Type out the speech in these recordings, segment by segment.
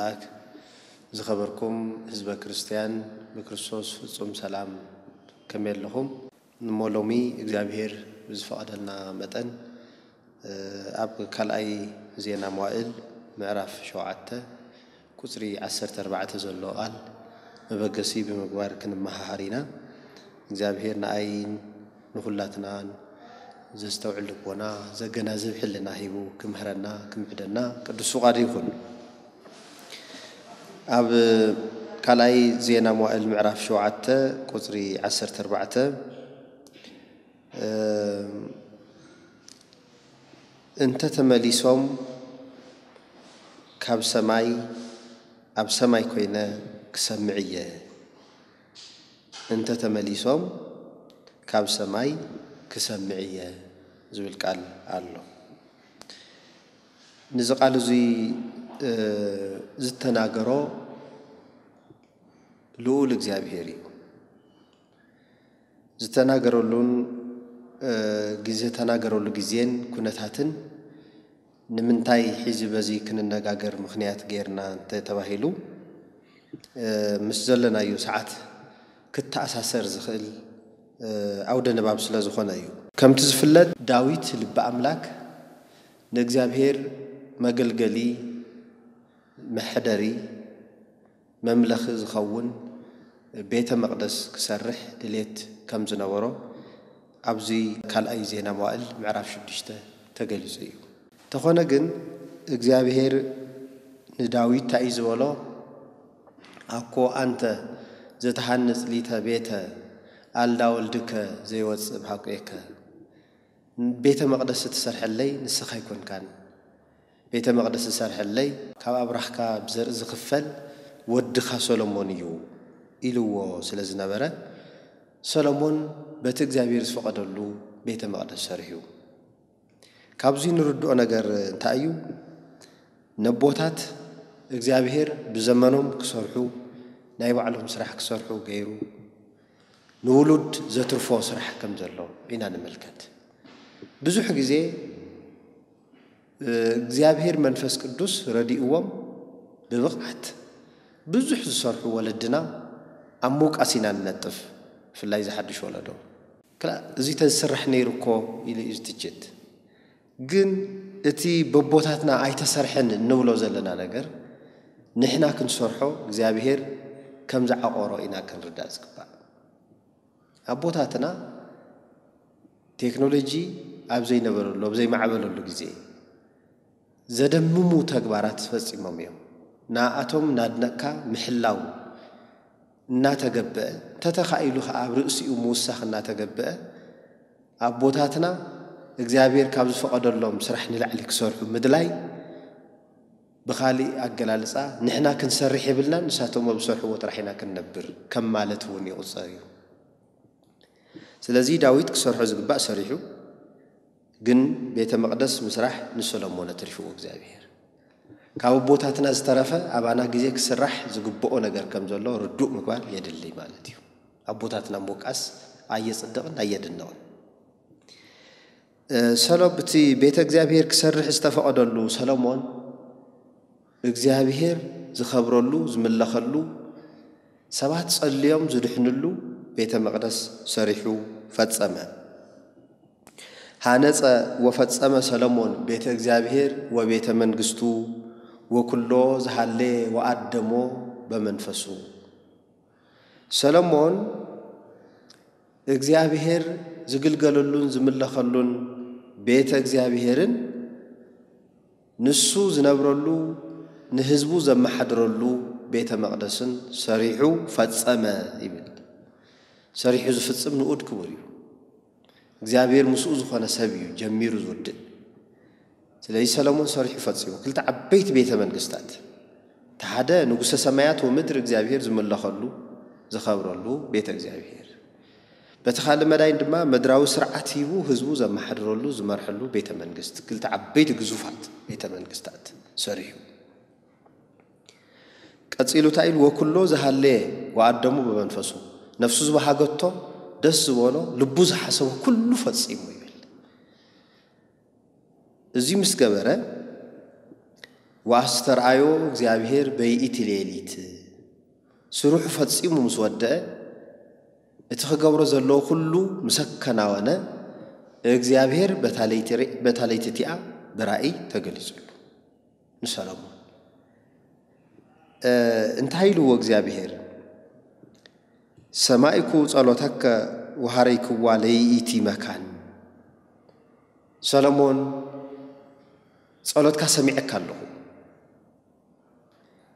ኣምላክ። ዝኸበርኩም ህዝበ ክርስትያን ብክርስቶስ ፍጹም ሰላም ከመይ ኣለኹም? እሞ ሎሚ እግዚኣብሔር ብዝፈቐደልና መጠን፣ እ፣ ኣብ ካልኣይ ዜና መዋእል ምዕራፍ ሸውዓተ ቁጽሪ ዓሰርተ ኣርባዕተ ዘሎ ቃል መበገሲ ብምግባር ክንመሃሃር ኢና። እግዚኣብሔር ንኣይን ንኹላትናን ዘስተውዕል ልቦና፣ ዘገናዝብ ሕልና ሂቡ ክምህረና፣ ክምዕደና ቅዱስ ፍቓዱ ይኹን። ኣብ ካልኣይ ዜና መዋእል ምዕራፍ ሸውዓተ ቁጽሪ ዓሰርተ ኣርባዕተ፣ እ፣ እንተ ተመሊሶም ካብ ሰማይ፣ ኣብ ሰማይ ኮይነ ክሰምዕ እየ። እንተ ተመሊሶም ካብ ሰማይ ክሰምዕ እየ ዝብል ቃል ኣሎ። ነዚ ቃል እዚ፣ እ፣ ዝተናገሮ ልኡል እግዚኣብሔር እዩ። ዝተናገረሉን፣ እ፣ ግዜ፣ ዝተናገረሉ ግዜን ኩነታትን ንምንታይ ሕዚ በዚ ክንነጋገር ምኽንያት ጌርና እንተ ተባሂሉ፣ እ፣ ምስ ዘለናዮ ሰዓት ክተኣሳሰር ዝኽእል፣ እ፣ ኣውደ ንባብ ስለ ዝኾነ እዩ። ከምቲ ዝፍለጥ፣ ዳዊት ልቢ ኣምላክ ንእግዚኣብሔር መገልገሊ፣ መሐደሪ፣ መምለኺ ዝኸውን ቤተ መቕደስ ክሰርሕ ድሌት ከም ዝነበሮ ኣብዚ ካልኣይ ዜና መዋእል ምዕራፍ ሽዱሽተ ተገሊጹ እዩ። እንተኾነ ግን እግዚኣብሔር ንዳዊት እንታይ እዩ ዝበሎ? "ኣኮ ኣንተ ዘተሃንጽ ሊተ ቤተ ኣልዳ ወልድከ ዘይወጽእ ብሃቁየከ?" ቤተ መቕደስ እትሰርሐለይ ንስኻ ኣይኮንካን። ቤተ መቕደስ ዝሰርሐለይ ካብ ኣብራኽካ ብዘርኢ ዝኽፈል ወድኻ ሰሎሞን እዩ ኢልዎ ስለ ዝነበረ፣ ሰሎሞን በቲ እግዚኣብሔር ዝፈቐደሉ ቤተ መቕደስ ሰሪሑ። ካብዚ ንርድኦ ነገር እንታይ እዩ? ነቦታት እግዚኣብሔር ብዘመኖም ክሰርሑ፣ ናይ ባዕሎም ስራሕ ክሰርሑ ገይሩ፣ ንውሉድ ዘትርፎ ስራሕ ከም ዘሎ ኢና ንምልከት። ብዙሕ ግዜ፣ እ፣ እግዚኣብሔር መንፈስ ቅዱስ ረዲእዎም ብብቕዓት ብዙሕ ዝሰርሑ ወለድና ኣብ ምውቃስ ኢና ንነጥፍ፣ ብፍላይ ዝሓድሽ ወለዶ። ክላ-፣ እዚ ተዝስራሕ ነይሩ እኮ ኢሉ እዩ ዝትችት። ግን እቲ በቦታትና ኣይተሰርሐን እንብሎ ዘለና ነገር ንሕና ክንሰርሖ እግዚኣብሔር ከም ዝዓቆሮ ኢና ክንርዳእ ዝግባእ። ኣቦታትና ቴክኖሎጂ ኣብ ዘይነበረሉ፣ ኣብ ዘይማዕበለሉ ግዜ ዘደምሙ ተግባራት ፈጺሞም እዮም። ንኣቶም እናድነቕካ ምሕላው እናተገበአ፣ እንተተኻኢሉ ኸዓ ኣብ ርእሲኡ ምውሳኽ እናተገበአ፣ ኣቦታትና እግዚኣብሔር ካብ ዝፈቐደሎም ስራሕ ንላዕሊ ክሰርሑ ምድላይ፣ ብኻሊእ ኣገላልጻ፣ ንሕና ክንሰርሕ የብልናን፣ ንሳቶም ኣብ ዝሰርሕዎ ጥራሕ ኢና ክንነብር ከም ማለት እውን ይቑጸር እዩ። ስለዚ ዳዊት ክሰርሖ ዝግባእ ሰሪሑ፣ ግን ቤተ መቕደስ ምስራሕ ንሰሎሞን ኣትሪፍዎ እግዚኣብሔር። ካብ ኣቦታትና ዝተረፈ ኣባና ግዜ ክስራሕ ዝግብኦ ነገር ከም ዘሎ ርዱእ ምግባር የድሊ ማለት እዩ። ኣቦታትና ምውቃስ ኣየጽድቕን ኣየድንቕን። እ፣ ሰሎ-፣ እቲ ቤተ እግዚኣብሔር ክሰርሕ ዝተፈቐደሉ ሰሎሞን እግዚኣብሔር ዝኸብረሉ፣ ዝምለኸሉ፣ ሰባት ጸልዮም ዝድሕንሉ ቤተ መቕደስ ሰሪሑ ፈጸመ። ሃነጸ ወፈጸመ ሰሎሞን ቤተ እግዚኣብሔር ወቤተ መንግስቱ ወኩሎ ዝሃሌ ወኣደሞ በመንፈሱ። ሰሎሞን እግዚኣብሔር ዝግልገለሉን ዝምለኸሉን ቤተ እግዚኣብሔርን ንሱ ዝነብረሉ ንህዝቡ ዘመሓድረሉ ቤተ መቕደስን ሰሪሑ ፈጸመ ይብል። ሰሪሑ ዝፍጽም ንኡድ ክቡር እዩ። እግዚኣብሔር ምስኡ ዝኾነ ሰብ እዩ ጀሚሩ ዝውድእ። ስለዚ ሰሎሞን ሰሪሑ ፈጺሙ ክልተ ዓበይቲ ቤተ መንግስታት፣ እቲ ሓደ ንጉሰ ሰማያት ወምድር እግዚኣብሔር ዝምለኸሉ ዝኸብረሉ ቤተ እግዚኣብሔር፣ በቲ ካልእ መዳይን ድማ ምድራዊ ስርዓት ሂቡ ህዝቡ ዘመሓድረሉ ዝመርሐሉ ቤተ መንግስት፣ ክልተ ዓበይቲ ግዙፋት ቤተ መንግስታት ሰሪሑ። ቀጺሉ እንታይ ኢሉ? "ወኩሎ ዝሃለየ ወኣደሙ ብመንፈሱ"፣ ነፍሱ ዝበሃገቶ፣ ደስ ዝበሎ፣ ልቡ ዝሓሰቦ ኩሉ ፈጺሙ ይብል። እዚ ምስ ገበረ፣ ወኣስተርኣዮ እግዚኣብሔር በይእቲ ሌሊት፣ ስርሑ ፈጺሙ ምስ ወደአ፣ እቲ ክገብሮ ዘለዎ ኩሉ ምስ ኣከናወነ፣ እግዚኣብሔር በታ ለይቲ ርእ-፣ በታ ለይቲ እቲኣ ብራእይ ተገሊጹሉ ንሰሎሞን። እ፣ እንታይ ኢልዎ እግዚኣብሔር? "ሰማዕኩ ጸሎተከ ወሃረይክዋ ለይእቲ መካን።" ሰሎሞን፣ ጸሎትካ ሰሚዐካ ኣለኹ፣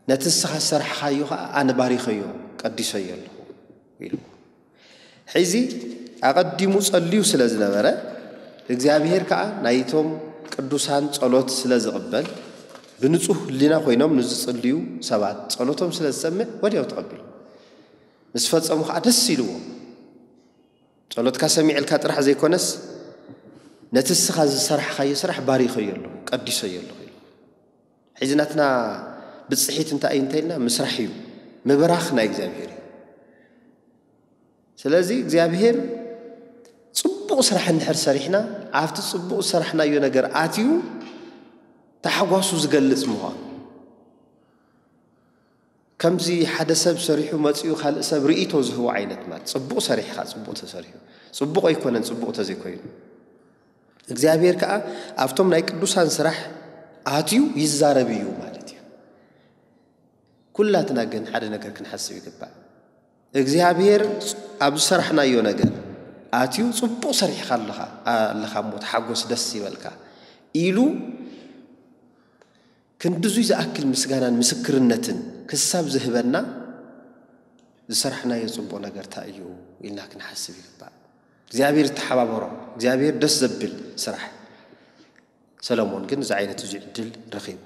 ነቲ ንስኻ ዝሰራሕኻዮ ኸኣ ኣነ ባሪኸዮ፣ ቀዲሰዮ ኣለኹ ኢሉ። ሕዚ ኣቐዲሙ ጸልዩ ስለ ዝነበረ፣ እግዚኣብሔር ከኣ ናይቶም ቅዱሳን ጸሎት ስለ ዝቕበል፣ ብንጹህ ህሊና ኮይኖም ንዝጽልዩ ሰባት ጸሎቶም ስለ ዝሰምዕ ወዲያው ተቐቢሉ። ምስ ፈጸሙ ከኣ ደስ ኢልዎ። "ጸሎትካ ሰሚዐልካ ጥራሕ ዘይኮነስ፣ ነቲ ንስኻ ዝሰራሕኻዮ ስራሕ ባሪኸዮ ኣለኹ፣ ቀዲሰዮ ኣለኹ" ኢሉ። ሕዚ ናትና ብጽሒት እንታይ እዩ እንተኢልና፣ ምስራሕ እዩ። ምብራኽ ናይ እግዚኣብሔር እዩ። ስለዚ እግዚኣብሔር ጽቡቕ ስራሕ እንድሕር ሰሪሕና፣ ኣብቲ ጽቡቕ ዝሰራሕናዮ ነገር ኣትዩ ታሕጓሱ ዝገልጽ ምዃኑ። ከምዚ ሓደ ሰብ ሰሪሑ መጺኡ ካልእ ሰብ ርእይቶ ዝህቦ ዓይነት ማለት፣ ጽቡቕ ሰሪሕኻ፣ ጽቡቕ ተሰሪሑ፣ ጽቡቕ ኣይኮነን፣ ጽቡቕ ተዘይኮይኑ። እግዚኣብሔር ከኣ ኣብቶም ናይ ቅዱሳን ስራሕ ኣትዩ ይዛረብ እዩ ማለት እዩ። ኩላትና ግን ሓደ ነገር ክንሓስብ ይግባእ። እግዚኣብሔር ኣብ ዝሰራሕናዮ ነገር ኣትዩ ጽቡቕ ሰሪሕኻ ኣለኻ፣ ኣለኻ እሞ ተሓጎስ፣ ደስ ይበልካ ኢሉ ክንድዙይ ዝኣክል ምስጋናን ምስክርነትን ክሳብ ዝህበና፣ ዝሰራሕናዮ ጽቡቕ ነገር እንታይ እዩ ኢልና ክንሓስብ ይግባእ። እግዚኣብሔር ይተሓባበሮ፣ እግዚኣብሔር ደስ ዘብል ስራሕ። ሰሎሞን ግን እዚ ዓይነት እዚ ዕድል ረኺቡ።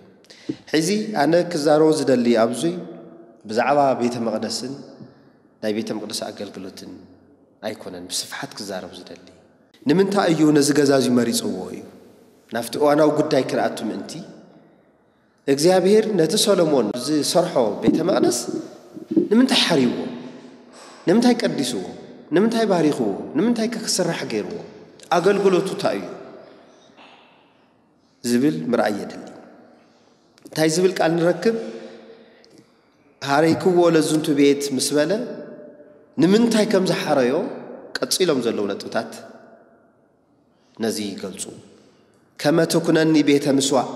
ሕዚ ኣነ ክዛረቦ ዝደሊ ኣብዚ ብዛዕባ ቤተ መቕደስን ናይ ቤተ መቕደስ ኣገልግሎትን ኣይኮነን ብስፍሓት ክዛረብ ዝደሊ። ንምንታይ እዩ ነዚ ገዛ እዚ መሪጽዎ እዩ? ናብቲ እዋናዊ ጉዳይ ክንኣቱ ምእንቲ፣ እግዚኣብሔር ነቲ ሰሎሞን ዝሰርሖ ቤተ መቕደስ ንምንታይ ሓርይዎ? ንምንታይ ቀዲስዎ? ንምንታይ ባሪኽዎ? ንምንታይ ከ ክስራሕ ገይርዎ? ኣገልግሎቱ እንታይ እዩ? ዝብል ምርኣይ የድሊ። እንታይ ዝብል ቃል ንረክብ? ሃረይክዎ ለዝንቱ ቤት ምስ በለ፣ ንምንታይ ከም ዝሓረዮ ቀጺሎም ዘለዉ ነጥብታት ነዚ ይገልጹ። "ከመ ትኩነኒ ቤተ ምስዋዕ፣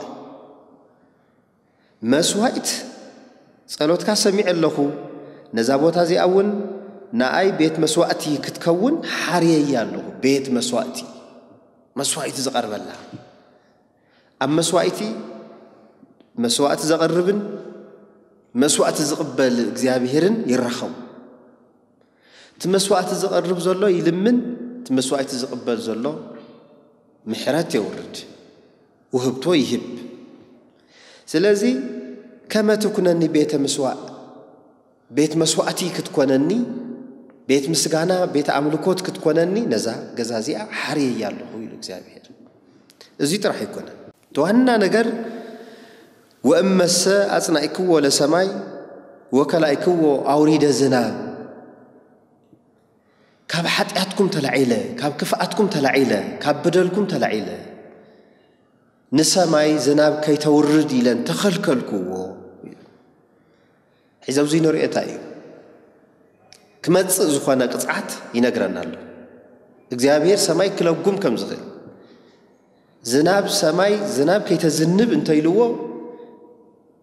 መስዋዕት ጸሎትካ ሰሚዐ ኣለኹ፣ ነዛ ቦታ እዚኣ እውን ንኣይ ቤት መስዋዕቲ ክትከውን ሓርየያ ኣለኹ።" ቤት መስዋዕቲ፣ መስዋዕቲ ዝቐርበላ። ኣብ መስዋዕቲ፣ መስዋዕቲ ዘቐርብን መስዋዕቲ ዝቕበል እግዚኣብሔርን ይራኸቡ። እቲ መስዋዕቲ ዝቐርብ ዘሎ ይልምን፣ እቲ መስዋዕቲ ዝቕበል ዘሎ ምሕረት የውርድ፣ ውህብቶ ይህብ። ስለዚ፣ "ከመ ትኩነኒ ቤተ ምስዋዕ፣ ቤት መስዋዕቲ ክትኮነኒ፣ ቤት ምስጋና፣ ቤት ኣምልኮት ክትኮነኒ፣ ነዛ ገዛ እዚኣ ሓርየያ ኣለኹ" ኢሉ እግዚኣብሔር። እዚ ጥራሕ ኣይኮነን። እቲ ዋና ነገር፣ "ወእመሰ ኣጽናዕክዎ ለሰማይ ወከላእክዎ ኣውሪደ ዝናብ"፣ ካብ ሓጢኣትኩም ተላዒለ፣ ካብ ክፍኣትኩም ተላዒለ፣ ካብ በደልኩም ተላዒለ፣ ንሰማይ ዝናብ ከይተውርድ ኢለን ተኸልከልክዎ። ሕዚ ኣብዚ ንርእዮ እንታይ እዩ? ክመጽእ ዝኾነ ቅጽዓት ይነግረና ኣሎ። እግዚኣብሔር ሰማይ ክለጉም ከም ዝኽእል፣ ዝናብ ሰማይ፣ ዝናብ ከይተዝንብ እንተኢልዎ፣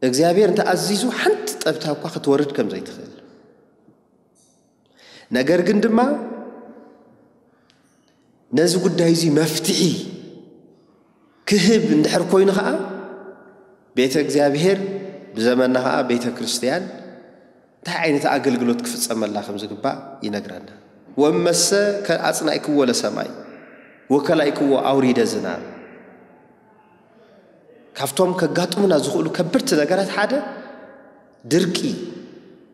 እግዚኣብሔር እንተኣዚዙ ሓንቲ ጠብታ እኳ ክትወርድ ከም ዘይትኽእል። ነገር ግን ድማ ነዚ ጉዳይ እዚ መፍትሒ ክህብ እንድሕር ኮይኑ ኸዓ፣ ቤተ እግዚኣብሔር፣ ብዘመንና ኸዓ ቤተ ክርስቲያን እንታይ ዓይነት ኣገልግሎት ክፍጸመላ ከም ዝግባእ ይነግረና። "ወመሰ ከ ኣጽናዕክዎ ለሰማይ ወከላእክዎ ኣውሪደ ዝናብ"፣ ካብቶም ከጋጥሙና ዝኽእሉ ከበድቲ ነገራት ሓደ ድርቂ።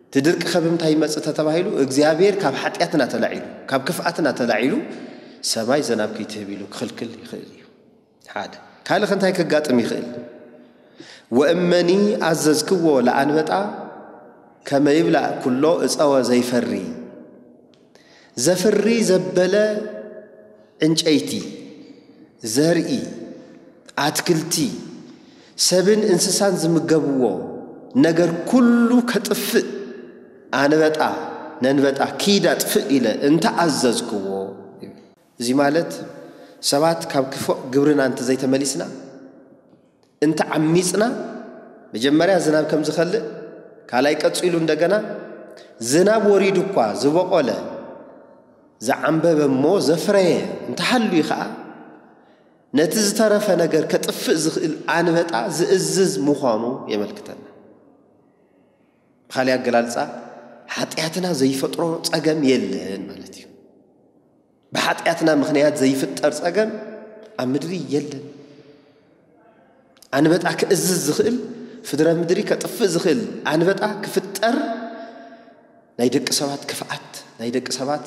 እቲ ድርቂ ካብ ምንታይ ይመጽእ ተተባሂሉ፣ እግዚኣብሔር ካብ ሓጢኣትና ተላዒሉ፣ ካብ ክፍኣትና ተላዒሉ፣ ሰማይ ዝናብ ከይትህብ ኢሉ ክኽልክል ይኽእል እዩ። ሓደ። ካልእ ከ እንታይ ከጋጥም ይኽእል? "ወእመኒ ኣዘዝክዎ ለኣንበጣ ከመ ይብላዕ ኩሎ እፀወ ዘይፈሪ"፣ ዘፍሪ ዘበለ ዕንጨይቲ፣ ዘርኢ፣ ኣትክልቲ፣ ሰብን እንስሳን ዝምገብዎ ነገር ኩሉ ከጥፍእ ኣንበጣ ነንበጣ ኪድ ኣጥፍእ ኢለ እንተኣዘዝክዎ። እዚ ማለት ሰባት ካብ ክፉእ ግብርና እንተዘይተመሊስና፣ እንተዓሚፅና፣ መጀመርያ ዝናብ ከም ዝኸልእ፣ ካልኣይ ቀፂሉ እንደገና ዝናብ ወሪዱ እኳ ዝበቆለ፣ ዝዓንበበ እሞ ዘፍረየ እንተሃልዩ ከዓ፣ ነቲ ዝተረፈ ነገር ከጥፍእ ዝኽእል ኣንበጣ ዝእዝዝ ምዃኑ የመልክተና። ብኻሊእ ኣገላልፃ፣ ሓጢኣትና ዘይፈጥሮ ፀገም የለን ማለት እዩ። ብሓጢኣትና ምኽንያት ዘይፍጠር ፀገም ኣብ ምድሪ የለን። ኣንበጣ ክእዝዝ ዝኽእል፣ ፍድረ ምድሪ ከጥፍእ ዝኽእል ኣንበጣ ክፍጠር ናይ ደቂ ሰባት ክፍኣት፣ ናይ ደቂ ሰባት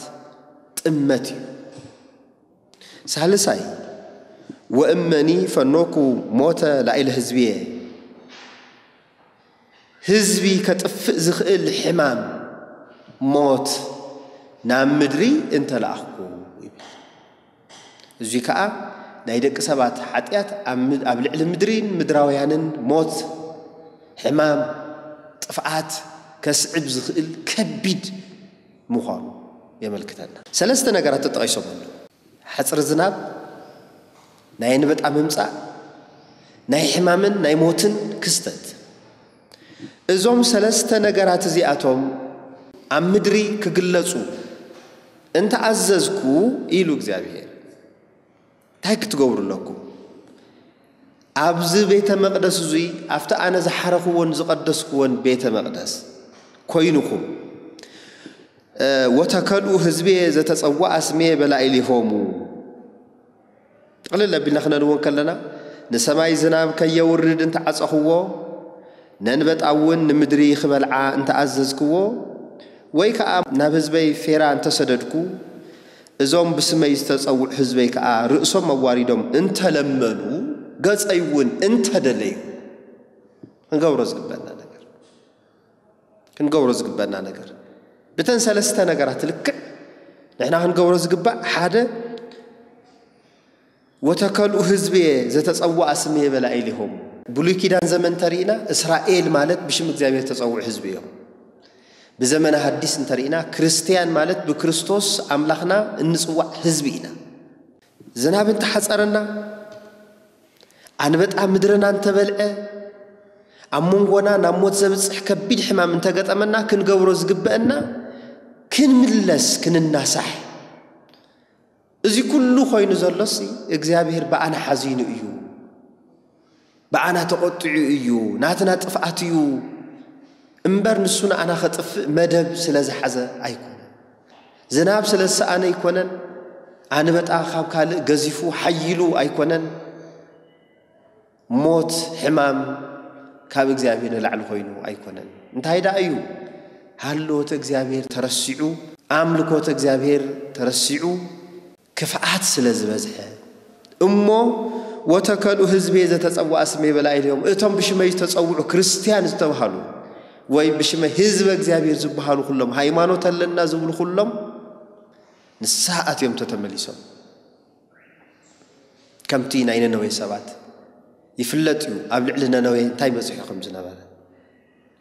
ጥመት እዩ። ሳልሳይ፣ ወእመኒ ፈኖኩ ሞተ ላዕለ ህዝብየ፣ ህዝቢ ከጥፍእ ዝኽእል ሕማም፣ ሞት ናብ ምድሪ እንተለኣኽኩ ይብል። እዚ ከኣ ናይ ደቂ ሰባት ሓጢኣት ኣብ ም-፣ ኣብ ልዕሊ ምድሪን ምድራውያንን ሞት፣ ሕማም፣ ጥፍኣት ከስዕብ ዝኽእል ከቢድ ምዃኑ የመልክተና። ሰለስተ ነገራት ተጠቒሶም ኣለዉ። ሓጽር ዝናብ፣ ናይ ኣንበጣ ምምጻእ፣ ናይ ሕማምን ናይ ሞትን ክስተት። እዞም ሰለስተ ነገራት እዚኣቶም ኣብ ምድሪ ክግለጹ እንተኣዘዝኩ ኢሉ እግዚኣብሔር፣ እንታይ ክትገብሩ ኣለኩም? ኣብዚ ቤተ መቕደስ እዙይ፣ ኣብቲ ኣነ ዝሓረኽዎን ዝቐደስክዎን ቤተ መቕደስ ኮይኑኹም፣ እ፣ ወተከልኡ ህዝቤ ዘተጸውኣ ስሜ በላዕሌሆሙ። ጥቕልል ኣቢልና ክነንዎ ከለና፣ ንሰማይ ዝናብ ከየውርድ እንተዓጸኽዎ፣ ነንበጣ እውን ንምድሪ ክበልዓ እንተኣዘዝክዎ፣ ወይ ከኣ ናብ ህዝበይ ፌራ እንተሰደድኩ፣ እዞም ብስመይ ዝተጸውዑ ህዝበይ ከኣ ርእሶም ኣዋሪዶም እንተለመኑ፣ ገጸይ እውን እንተደለዩ፣ ክንገብሮ ዝግበአና ነገር። ክንገብሮ ዝግበአና ነገር። ብተን ሰለስተ ነገራት ልክዕ ንሕና ክንገብሮ ዝግባእ፣ ሓደ፣ ወተከልኡ ህዝብየ ዘተጸውኣ ስምየ በላዕሌሆሙ። ብሉይ ኪዳን ዘመን እንተርኢና፣ እስራኤል ማለት ብሽም እግዚኣብሔር ተጸውዑ ህዝቢ እዮም። ብዘመነ ሐዲስ እንተርኢና፣ ክርስትያን ማለት ብክርስቶስ ኣምላኽና እንጽዋዕ ህዝቢ ኢና። ዝናብ እንተሓጸረና፣ ኣንበጣ ምድርና እንተበልዐ፣ ኣብ መንጎና ናብ ሞት ዘብጽሕ ከቢድ ሕማም እንተገጠመና፣ ክንገብሮ ዝግበአና፣ ክንምለስ፣ ክንናሳሕ። እዚ ኩሉ ኮይኑ ዘሎሲ እግዚኣብሔር ብኣና ሓዚኑ እዩ፣ ብኣና ተቖጢዑ እዩ፣ ናትና ጥፍኣት እዩ እምበር፣ ንሱ ንኣና ኸጥፍእ መደብ ስለ ዝሓዘ ኣይኮነን። ዝናብ ስለ ዝሰኣነ ኣይኮነን፣ ኣንበጣ ካብ ካልእ ገዚፉ ሓይሉ ኣይኮነን። ሞት፣ ሕማም ካብ እግዚኣብሔር ንላዕሊ ኮይኑ ኣይኮነን። እንታይ ደኣ እዩ? ሃልዎት እግዚኣብሔር ተረሲዑ፣ ኣምልኮት እግዚኣብሔር ተረሲዑ፣ ክፍኣት ስለ ዝበዝሐ። እሞ ወተከልኡ ህዝቤ ዘተጸውኣ ስሜ በላዕሌሆሙ፣ እቶም ብሽመይ ዝተጸውዑ ክርስትያን ዝተባሃሉ ወይ ብሽመ ህዝበ እግዚኣብሔር ዝበሃሉ ኩሎም፣ ሃይማኖት ኣለና ዝብሉ ኩሎም ንስሓ ኣትዮም ተተመሊሶም። ከምቲ ናይ ነነዌ ሰባት ይፍለጥ እዩ፣ ኣብ ልዕሊ ነነዌ እንታይ በጺሑ ከም ዝነበረ።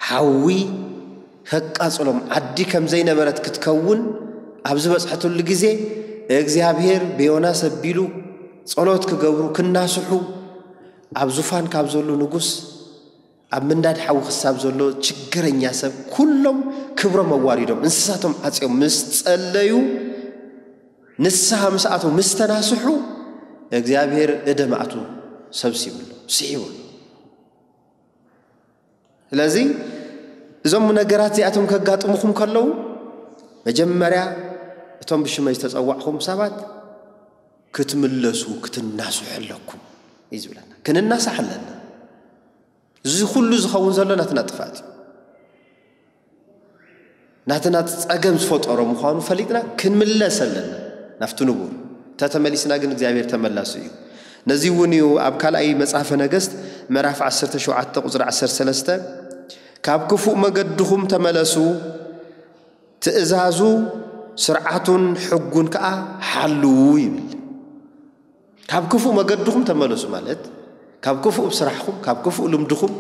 ሓዊ ከቃጽሎም፣ ዓዲ ከም ዘይነበረት ክትከውን ኣብ ዝበጽሐትሉ ግዜ፣ እግዚኣብሔር ብዮናስ ኣቢሉ ጸሎት ክገብሩ፣ ክናስሑ፣ ኣብ ዙፋን ካብ ዘሎ ንጉስ፣ ኣብ ምንዳድ ሓዊ ክሳብ ዘሎ ችግረኛ ሰብ፣ ኩሎም ክብሮም ኣዋሪዶም፣ እንስሳቶም ዓጽዮም ምስ ጸለዩ፣ ንስሓ ምስ ኣተው፣ ምስ ተናስሑ፣ እግዚኣብሔር እደ መዓቱ ሰብሲብሎም፣ ስሒብሎም። ስለዚ እዞም ነገራት እዚኣቶም ከጋጥሙኹም ከለዉ፣ መጀመርያ እቶም ብሽመይ ዝተጸዋዕኹም ሰባት ክትምለሱ፣ ክትናስሑ ኣለኩም እዩ ዝብለና። ክንናሳሕ ኣለና። እዚ ኩሉ ዝኸውን ዘሎ ናትና ጥፍኣት እዩ። ናትና ጸገም ዝፈጠሮ ምዃኑ ፈሊጥና ክንምለስ ኣለና ናብቲ ንቡር። እንተተመሊስና ግን እግዚኣብሔር ተመላሲ እዩ። ነዚ እውን እዩ ኣብ ካልኣይ መጽሓፈ ነገስት ምዕራፍ ዓሰርተ ሸውዓተ ቁጽሪ ዓሰርተ ሰለስተ፣ "ካብ ክፉእ መገድኹም ተመለሱ፣ ትእዛዙ፣ ስርዓቱን ሕጉን ከኣ ሓልዉ" ይብል። ካብ ክፉእ መገድኹም ተመለሱ ማለት፣ ካብ ክፉእ ስራሕኹም፣ ካብ ክፉእ ልምድኹም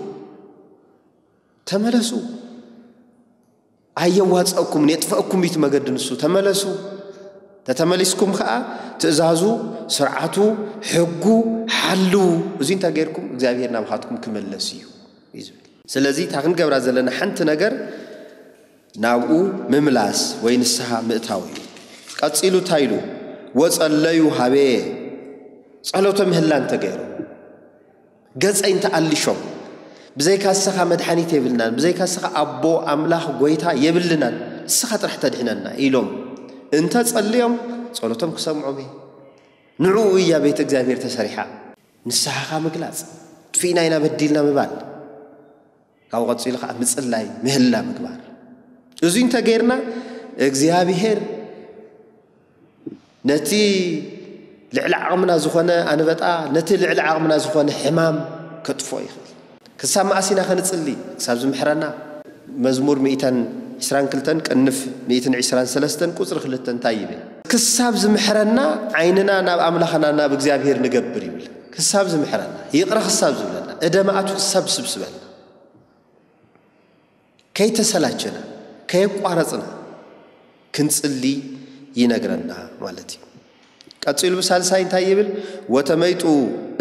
ተመለሱ። ኣየዋፀእኩምን የጥፈእኩም እዩ እቲ መገዲ ንሱ። ተመለሱ። ተተመሊስኩም ከዓ ትእዛዙ፣ ስርዓቱ፣ ሕጉ ሓልዉ። እዚ እንተ ጌርኩም እግዚኣብሔር ናባኻትኩም ክመለስ እዩ እዩ ዝብል። ስለዚ እታ ክንገብራ ዘለና ሓንቲ ነገር ናብኡ ምምላስ ወይ ንስሓ ምእታው እዩ። ቀጺሉ እንታይ ኢሉ? "ወጸለዩ ሃቤ"፣ ጸሎተ ምህላ እንተገይሩ፣ ገጸይ እንተኣሊሾም፣ "ብዘይካ ንስኻ መድሓኒት የብልናን፣ ብዘይካ ንስኻ ኣቦ፣ ኣምላኽ፣ ጎይታ የብልናን፣ ንስኻ ጥራሕ ተድሕነና" ኢሎም እንተ ጸልዮም፣ ጸሎቶም ክሰምዖም እየ። ንዕኡ እያ ቤተ እግዚኣብሔር ተሰሪሓ። ንስሓኻ ምግላጽ፣ "ጥፊእና ኢና፣ በዲልና" ምባል። ካብኡ ቀጺሉ ኸዓ ምጽላይ፣ ምህላ ምግባር። እዙይ እንተ ጌርና፣ እግዚኣብሔር ነቲ ልዕሊ ዓቕምና ዝኾነ ኣንበጣ፣ ነቲ ልዕሊ ዓቕምና ዝኾነ ሕማም ከጥፍኦ ይኽእል። ክሳብ መኣስ ኢና ኸንጽሊ? ክሳብ ዝምሕረና። መዝሙር ሚእትን ዕስራን ክልተን ቅንፍ ሚእትን ዕስራን ሰለስተን ቁጽሪ ክልተ እንታይ ይብል? "ክሳብ ዝምሕረና ዓይንና ናብ ኣምላኽና ናብ እግዚኣብሔር ንገብር" ይብል። ክሳብ ዝምሕረና፣ ይቕረ ክሳብ ዝብለና፣ እደ መዓቱ ክሳብ ዝስብስበልና፣ ከይተሰላቸና፣ ከየቋረጽና ክንጽሊ ይነግረና ማለት እዩ። ቀጺሉ ብሳልሳይ እንታይ ይብል? "ወተመይጡ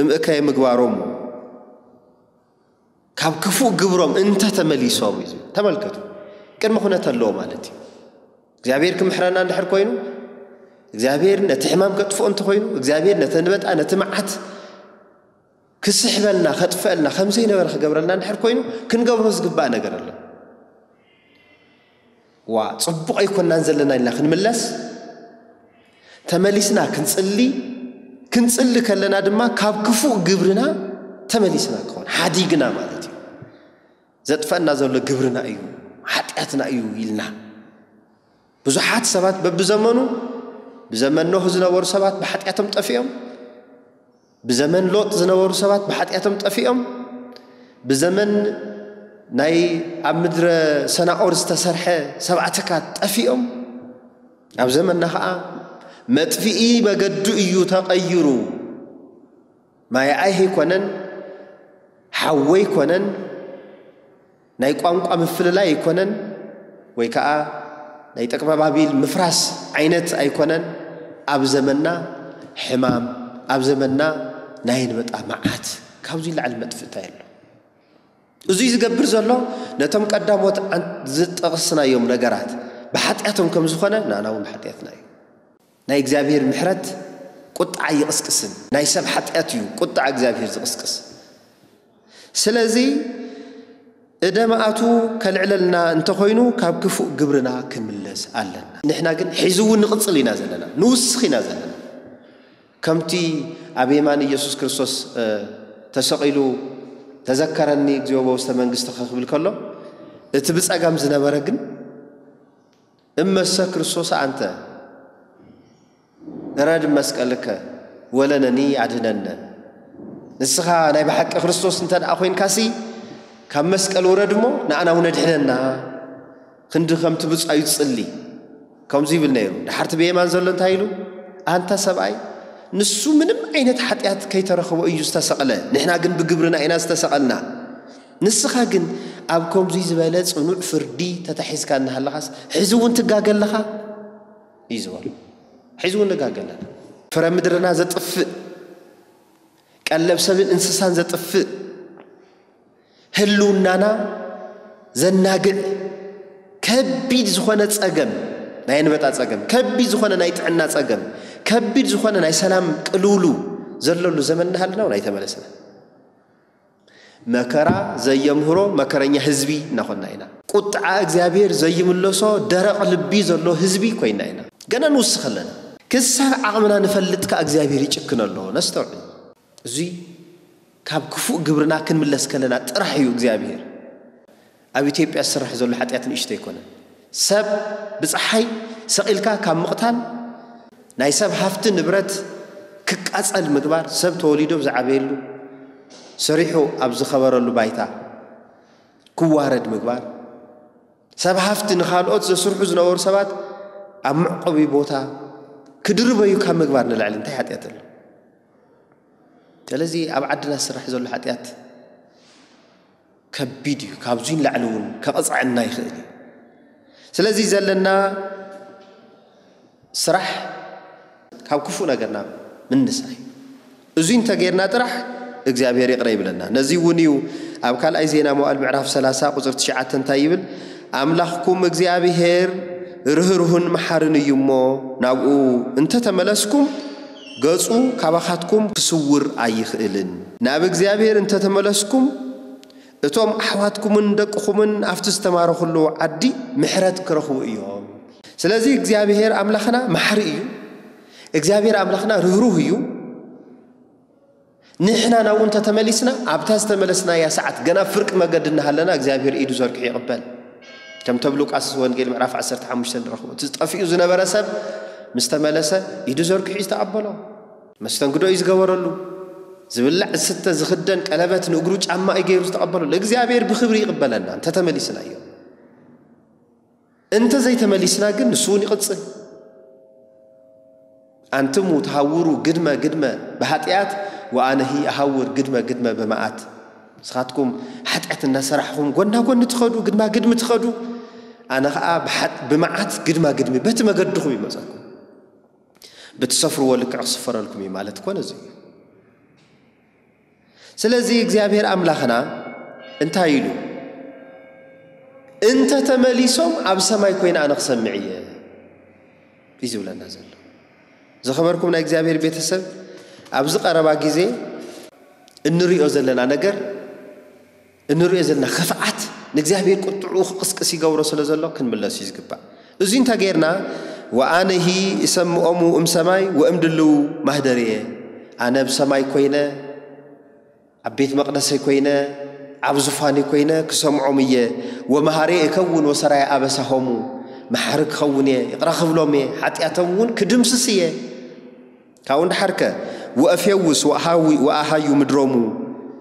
እምእከየ ምግባሮሙ"፣ ካብ ክፉእ ግብሮም እንተ ተመሊሶም እዩ ዝብል። ተመልከቱ፣ ቅድመ ኩነት ኣለዎ ማለት እዩ። እግዚኣብሔር ክምሕረና እንድሕር ኮይኑ፣ እግዚኣብሔር ነቲ ሕማም ከጥፍኦ እንተኾይኑ፣ እግዚኣብሔር ነቲ ኣንበጣ፣ ነቲ መዓት ክስሕበልና፣ ከጥፍአልና፣ ከም ዘይነበረ ክገብረልና እንድሕር ኮይኑ፣ ክንገብሮ ዝግባእ ነገር ኣሎ። "ዋ፣ ጽቡቕ ኣይኮናን ዘለና" ኢልና ክንምለስ፣ ተመሊስና ክንጽሊ፣ ክንጽሊ ከለና ድማ ካብ ክፉእ ግብርና ተመሊስና ክኾን፣ ሓዲግና ማለት እዩ። "ዘጥፈአና ዘሎ ግብርና እዩ፣ ሓጢኣትና እዩ" ኢልና። ብዙሓት ሰባት በብዘመኑ፣ ብዘመን ኖህ ዝነበሩ ሰባት ብሓጢኣቶም ጠፊኦም፣ ብዘመን ሎጥ ዝነበሩ ሰባት ብሓጢኣቶም ጠፊኦም፣ ብዘመን ናይ ኣብ ምድረ ሰናኦር ዝተሰርሐ ሰብዓ ተካት ጠፊኦም፣ ኣብ ዘመንና ኸዓ መጥፍኢ መገዱ እዩ ተቐይሩ። ማይ ኣይሂ ኣይኮነን፣ ሓዊ ኣይኮነን፣ ናይ ቋንቋ ምፍልላይ ኣይኮነን፣ ወይ ከዓ ናይ ጠቅመ ባቢል ምፍራስ ዓይነት ኣይኮነን። ኣብ ዘመንና ሕማም፣ ኣብ ዘመንና ናይ ኣንበጣ መዓት፣ ካብዚ ላዕሊ መጥፍእታ የሎ። እዙይ ዝገብር ዘሎ ነቶም ቀዳሞት ኣን-፣ ዝጠቕስናዮም ነገራት ብሓጢኣቶም ከም ዝኾነ ንኣና እውን ብሓጢኣትና እዩ። ናይ እግዚኣብሔር ምሕረት ቁጥዓ ይቕስቅስን፣ ናይ ሰብ ሓጢኣት እዩ ቁጥዓ እግዚኣብሔር ዝቕስቅስ። ስለዚ እደ መዓቱ ከልዕለልና እንተኾይኑ ካብ ክፉእ ግብርና ክንምለስ ኣለና። ንሕና ግን ሕዚ እውን ንቕጽል ኢና ዘለና፣ ንውስኽ ኢና ዘለና። ከምቲ ኣብ የማን ኢየሱስ ክርስቶስ፣ እ፣ ተሰቒሉ "ተዘከረኒ እግዚኣብሔር በውስተ መንግሥትከ" ክብል ከሎ፣ እቲ ብጸጋም ዝነበረ ግን "እመሰ ክርስቶስ ኣንተ እረድ መስቀልከ ወለነኒ ኣድህነነ"፣ ንስኻ ናይ ብሓቂ ክርስቶስ እንተ ደኣ ኮይንካሲ፣ ካብ መስቀል ውረድ እሞ ንኣና እውን ኣድሕነና። ክንዲ ከምቲ ብጻዩ ዝጽሊ ከምዚ ይብል ነይሩ። ደሓርቲ ብየማን ዘሎ እንታይ ኢሉ? "ኣንታ ሰብኣይ፣ ንሱ ምንም ዓይነት ሓጢኣት ከይተረኸቦ እዩ ዝተሰቕለ፣ ንሕና ግን ብግብርና ኢና ዝተሰቐልና። ንስኻ ግን ኣብ ከምዚ ዝበለ ጽኑዕ ፍርዲ ተታሒዝካ እናሃለኻስ፣ ሕዚ እውን ትጋገ ኣለኻ?" እዩ ዝበሎ። ሕዚ እውን ንጋገ ኣለና። ፍረ ምድርና ዘጥፍእ፣ ቀለብ ሰብን እንስሳን ዘጥፍእ፣ ህልውናና ዘናግዕ ከቢድ ዝኾነ ጸገም፣ ናይ ኣንበጣ ጸገም፣ ከቢድ ዝኾነ ናይ ጥዕና ጸገም፣ ከቢድ ዝኾነ ናይ ሰላም ቅልውሉ ዘለሉ ዘመን እናሃለና እውን ኣይተመለስና። መከራ ዘየምህሮ መከረኛ ህዝቢ እናኾንና ኢና። ቁጥዓ እግዚኣብሔር ዘይምለሶ ደረቕ ልቢ ዘሎ ህዝቢ ኮይና ኢና። ገና ንውስኽ ኣለና። ክሳብ ዓቕምና ንፈልጥ ከኣ እግዚኣብሔር ይጭክን ኣሎ። ነስተውዕል። እዙይ ካብ ክፉእ ግብርና ክንምለስ ከለና ጥራሕ እዩ እግዚኣብሔር። ኣብ ኢትዮጵያ ዝስራሕ ዘሎ ሓጢኣት ንእሽቶ ኣይኮነን። ሰብ ብፀሓይ ሰቒልካ ካብ ምቕታል፣ ናይ ሰብ ሃፍቲ ንብረት ክቃጸል ምግባር፣ ሰብ ተወሊዱ ኣብ ዝዓበየሉ፣ ሰሪሑ ኣብ ዝኸበረሉ ባይታ ክዋረድ ምግባር፣ ሰብ ሃፍቲ ንኻልኦት ዘስርሑ ዝነበሩ ሰባት ኣብ መዕቆቢ ቦታ ክድርበዩ ካብ ምግባር ንላዕሊ እንታይ ሓጢኣት ኣሎ? ስለዚ ኣብ ዓድና ዝስራሕ ዘሎ ሓጢኣት ከቢድ እዩ። ካብዙይ ንላዕሊ እውን ከቐፅዐና ይኽእል እዩ። ስለዚ ዘለና ስራሕ ካብ ክፉእ ነገርና ምንሳይ። እዙይ እንተጌርና ጥራሕ እግዚኣብሔር ይቕረ ይብለና። ነዚ እውን እዩ ኣብ ካልኣይ ዜና መዋእል ምዕራፍ ሰላሳ ቁፅሪ ትሽዓተ እንታይ ይብል? ኣምላኽኩም እግዚኣብሔር ርህሩህን መሓርን እዩ እሞ፣ ናብኡ እንተተመለስኩም፣ ገጹ ካባኻትኩም ክስውር ኣይኽእልን። ናብ እግዚኣብሔር እንተተመለስኩም፣ እቶም ኣሕዋትኩምን ደቅኹምን ኣብቲ ዝተማረኹሉ ዓዲ ምሕረት ክረኽቡ እዮም። ስለዚ እግዚኣብሔር ኣምላኽና መሓሪ እዩ። እግዚኣብሔር ኣምላኽና ርህሩህ እዩ። ንሕና ናብኡ እንተተመሊስና፣ ኣብታ ዝተመለስናያ ሰዓት፣ ገና ፍርቂ መገዲ እናሃለና፣ እግዚኣብሔር ኢዱ ዘርጊሑ ይቕበል። ከምቲ ኣብ ሉቃስ ወንጌል ምዕራፍ ዓሰርተ ሓሙሽተ ንረኽቦ። እቲ ጠፊኡ ዝነበረ ሰብ ምስ ተመለሰ፣ ኢዱ ዘርጊሑ እዩ ዝተቐበሎ። መስተንግዶ እዩ ዝገበረሉ። ዝብላዕ፣ ዝስተ፣ ዝኽደን ቀለበት፣ ንእግሩ ጫማ እዩ ገይሩ ዝተቐበሎ። እግዚኣብሔር ብኽብሪ ይቕበለና፣ እንተተመሊስና እዩ። እንተ ዘይተመሊስና ግን ንሱ እውን ይቕጽል። ኣንትሙ ተሃውሩ ግድመ ግድመ ብሃጢኣት ወኣነሂ ኣሃውር ግድመ ግድመ ብመዓት። ንስኻትኩም ሓጢኣት እናሰራሕኹም ጎና ጎኒ ትኸዱ፣ ግድማ ግድሚ ትኸዱ፣ ኣነ ኸዓ ብሓጥ-፣ ብመዓት ግድማ ግድሚ በቲ መገድኹም ይመጸኩም። ብትሰፍርዎ ልክዕ ክስፈረልኩም እዩ ማለት እኮ ነዚ እዩ። ስለዚ እግዚኣብሔር ኣምላኽና እንታይ ኢሉ? "እንተ ተመሊሶም ኣብ ሰማይ ኮይነ ኣነ ክሰምዕ እየ" እዩ ዝብለና ዘሎ። ዝኸበርኩም ናይ እግዚኣብሔር ቤተሰብ፣ ኣብዚ ቀረባ ግዜ እንሪኦ ዘለና ነገር፣ እንሪኦ ዘለና ክፍኣት ንእግዚኣብሔር ቁጥዕኡ ክቕስቅስ ይገብሮ ስለ ዘሎ ክንምለስ እዩ ዝግባእ። እዚ እንተ ጌርና፣ "ወኣነሂ እሰምዖሙ እም ሰማይ ወእም ድልው ማህደርየ"፣ ኣነ ኣብ ሰማይ ኮይነ፣ ኣብ ቤት መቕደሰይ ኮይነ፣ ኣብ ዙፋነይ ኮይነ ክሰምዖም እየ። "ወመሃሬ እከውን ወሰራየ ኣበሳሆሙ"፣ መሓሪ ክኸውን እየ፣ ይቕረ ክብሎም እየ፣ ሓጢኣቶም እውን ክድምስስ እየ። ካብኡ እንድሓርከ፣ "ወእፌውስ ወኣሃዊ-፣ ወኣሃዩ ምድሮሙ"፣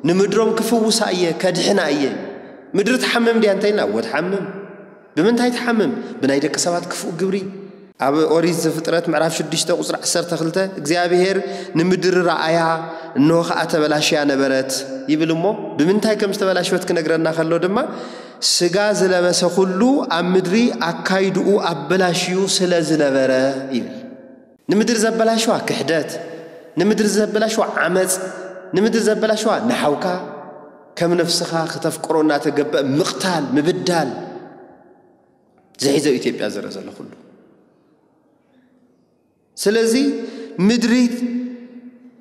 ንምድሮም ክፍውሳ እየ፣ ከድሕና እየ። ምድሪ ትሓምም ድያ እንተኢልና፣ እወ ትሓምም። ብምንታይ ትሓምም? ብናይ ደቂ ሰባት ክፉእ ግብሪ። ኣብ ኦሪት ዘፍጥረት ምዕራፍ ሽዱሽተ ቁጽሪ ዓሰርተ ክልተ፣ "እግዚኣብሔር ንምድሪ ረኣያ፣ እንሆ ኸኣ ተበላሽያ ነበረት" ይብል እሞ፣ ብምንታይ ከም ዝተበላሸወት ክነግረና ከሎ ድማ፣ "ስጋ ዝለበሰ ኩሉ ኣብ ምድሪ ኣካይድኡ ኣበላሽዩ ስለ ዝነበረ" ይብል። ንምድሪ ዘበላሽዋ ክሕደት፣ ንምድሪ ዘበላሽዋ ዓመፅ፣ ንምድሪ ዘበላሽዋ ንሓውካ ከም ነፍስኻ ክተፍቅሮ እናተገበአ ምቕታል፣ ምብዳል፣ ዝሒዘ ኢትዮጵያ ዝረአ ዘሎ ኩሉ። ስለዚ ምድሪ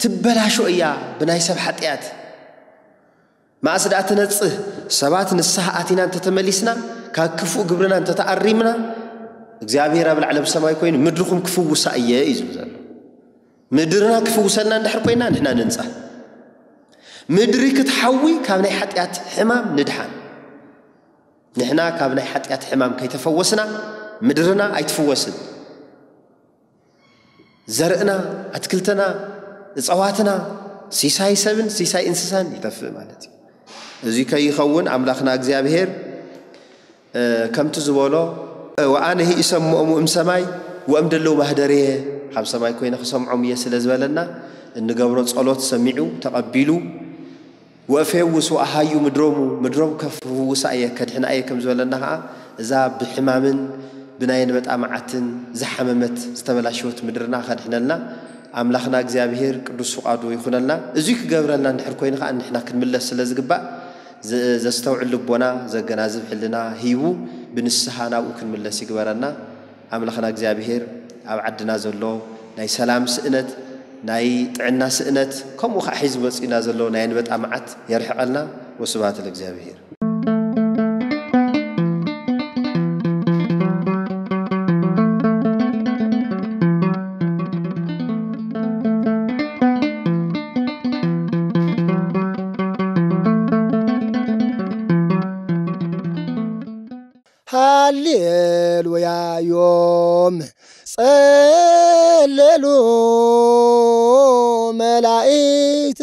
ትበላሾ እያ ብናይ ሰብ ሓጢኣት። መኣስ ደኣ ትነጽህ? ሰባት ንስሓ ኣቲና እንተተመሊስና፣ ካብ ክፉእ ግብርና እንተተኣሪምና፣ እግዚኣብሔር ኣብ ላዕሊ ኣብ ሰማይ ኮይኑ ምድርኹም ክፍውሳ እየ እዩ ዝብል ዘሎ። ምድርና ክፍውሰልና እንድሕር ኮይና ንሕና ንንጻህ። ምድሪ ክትሓዊ ካብ ናይ ሓጢኣት ሕማም ንድሓን። ንሕና ካብ ናይ ሓጢኣት ሕማም ከይተፈወስና ምድርና ኣይትፍወስን። ዘርእና፣ ኣትክልትና፣ እፀዋትና፣ ሲሳይ ሰብን ሲሳይ እንስሳን ይጠፍእ ማለት እዩ። እዚ ከይኸውን ኣምላኽና እግዚኣብሔር፣ እ፣ ከምቲ ዝበሎ፣ "ወኣነሂ እሰምዖሙ እም ሰማይ ወእም ደለዉ ማህደርየ"፣ ካብ ሰማይ ኮይነ ክሰምዖም እየ ስለ ዝበለና፣ እንገብሮ ጸሎት ሰሚዑ፣ ተቐቢሉ፣ "ወእፌውስ ወኣሃዩ ምድሮሙ"፣ ምድሮም ከፍውሳ እየ፣ ከድሕና እየ ከም ዝበለና ኸዓ፣ እዛ ብሕማምን ብናይ ኣንበጣ መዓትን ዝሓመመት ዝተበላሸወት ምድርና ከድሕነልና ኣምላኽና እግዚኣብሔር ቅዱስ ፍቓዱ ይኹነልና። እዙይ ክገብረልና እንድሕር ኮይኑ ኸዓ ንሕና ክንምለስ ስለ ዝግባእ ዘ-፣ ዘስተውዕል ልቦና ዘገናዝብ ሕልና ሂቡ ብንስሓ ናብኡ ክንምለስ ይግበረና። ኣምላኽና እግዚኣብሔር ኣብ ዓድና ዘሎ ናይ ሰላም ስእነት፣ ናይ ጥዕና ስእነት፣ ከምኡ ኸዓ ሒዙ መጺኡና ዘሎ ናይ ኣንበጣ መዓት የርሕቐልና። ወስብሐት ለእግዚኣብሔር። ሃሌሉያ ዮም ጸለሉ መላእክት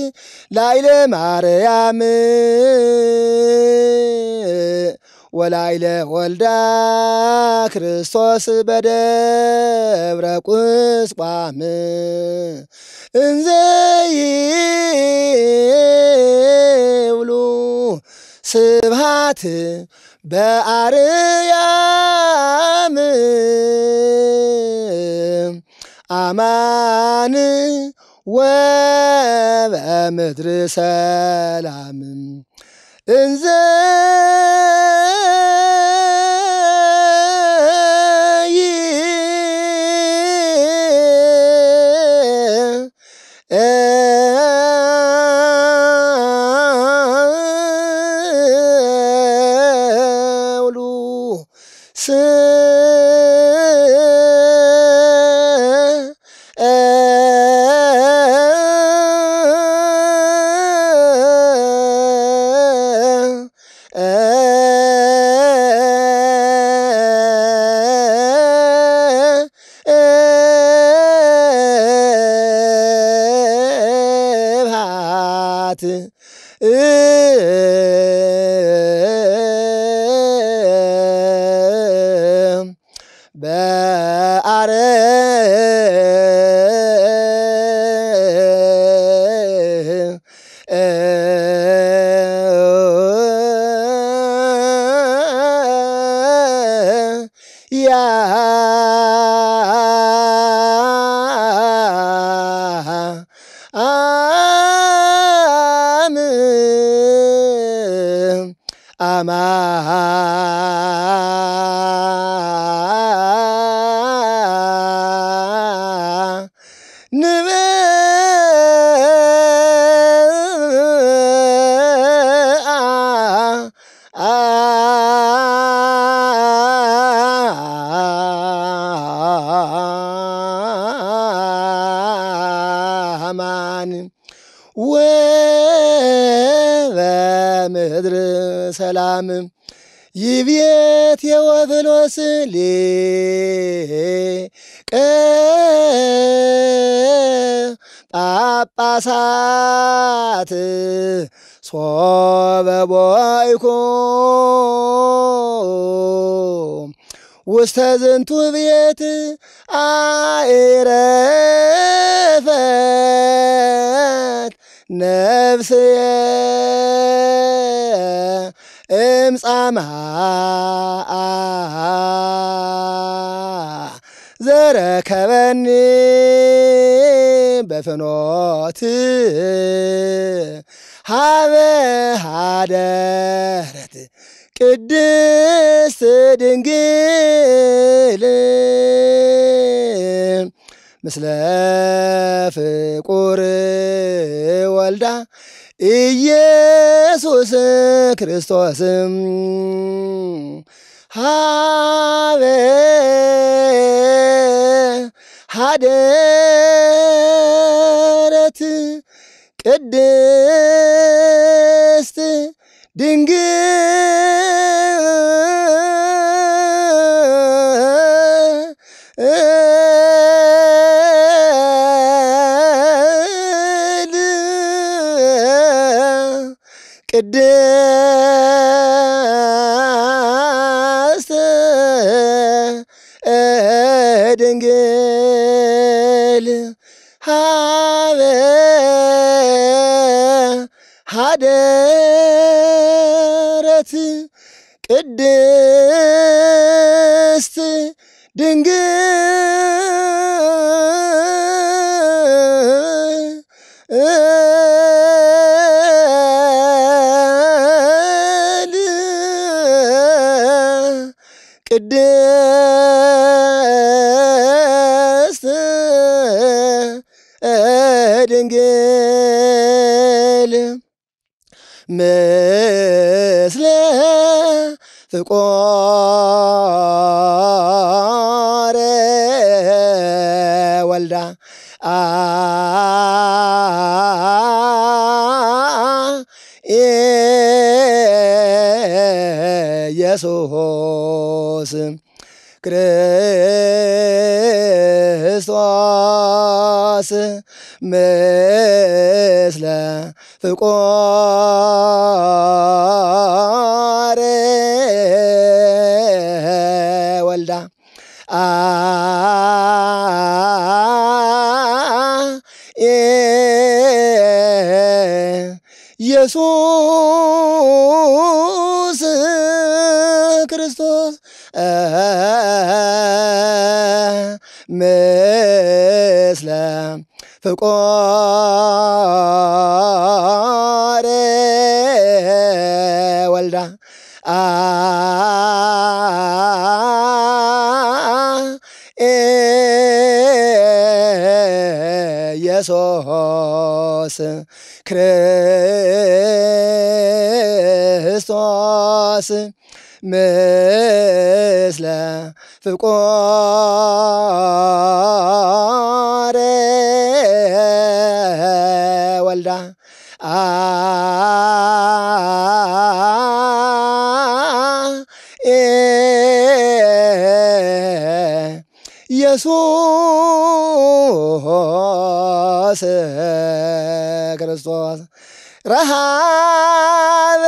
ላይለ ማርያም ወላይለ ወልዳ ክርስቶስ በደብረ ቁስቋም እንዘ ይብሉ ስብሃት በአርያም አማን ወበምድር ሰላም እንዘ ይብሉ ስ ስብሐት በአረ ያ አም አማ ንብአ አማን ወበምድር ሰላም ይቤ ቴዎፍሎስ ሊቀ ጳጳሳት ሶበ ቦይኩ ውስተ ዝንቱ ቤት አኢረፈት ነፍስየ እምጻማ ዘረከበኒ በፍኖት ሀበ ሀደረት ቅድስት ድንግል ምስለ ፍቁር ወልዳ ኢየሱስ ክርስቶስ ሀበ ሀደረት ቅድስት ድንግል ቅድስት ድንግል ሀበ ሀደረት ቅድስት ድንግል ቅድስት ድንግል ምስለ ፍቁር ወልዳ ኢየሱስ ክርስቶስ ምስለ ፍቁር አ ኤ ኢየሱስ ክርስቶስ ምስለ ፍቁር ወልዳ አ ኤ ኢየሱስ ክርስቶስ ምስለ ፍቁር ወልዳ አ ኤ ኢየሱስ ክርስቶስ ረሃበ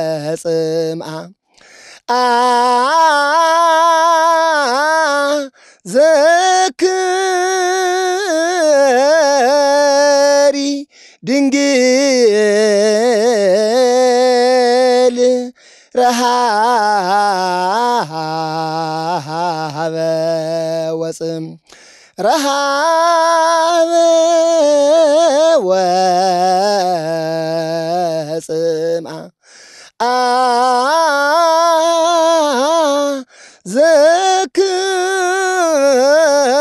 ወጽምኣ አ ዘክሪ ድንግል ረሃበ ወጽም ረሃበ ወጽምኣ አ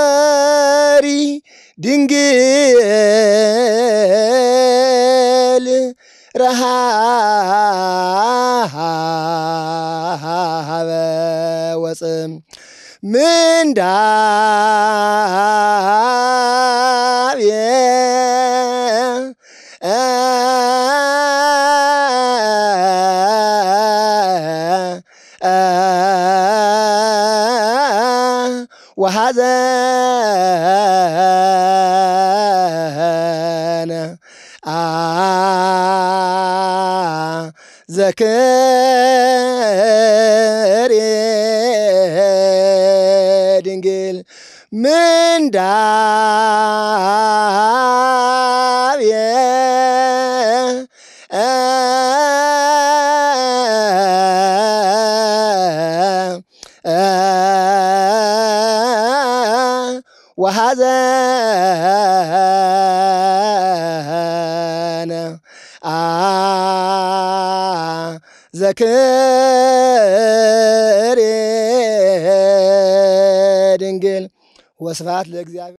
ዘክሪ ድንግል ረሃበ ወፅም ምንዳቤ ወሐዘነ አ ዘክሪ ድንግል ምንዳቤ ወሐዘነ አ ዘክሪ ድንግል ወስብሐት ለእግዚአብሔር።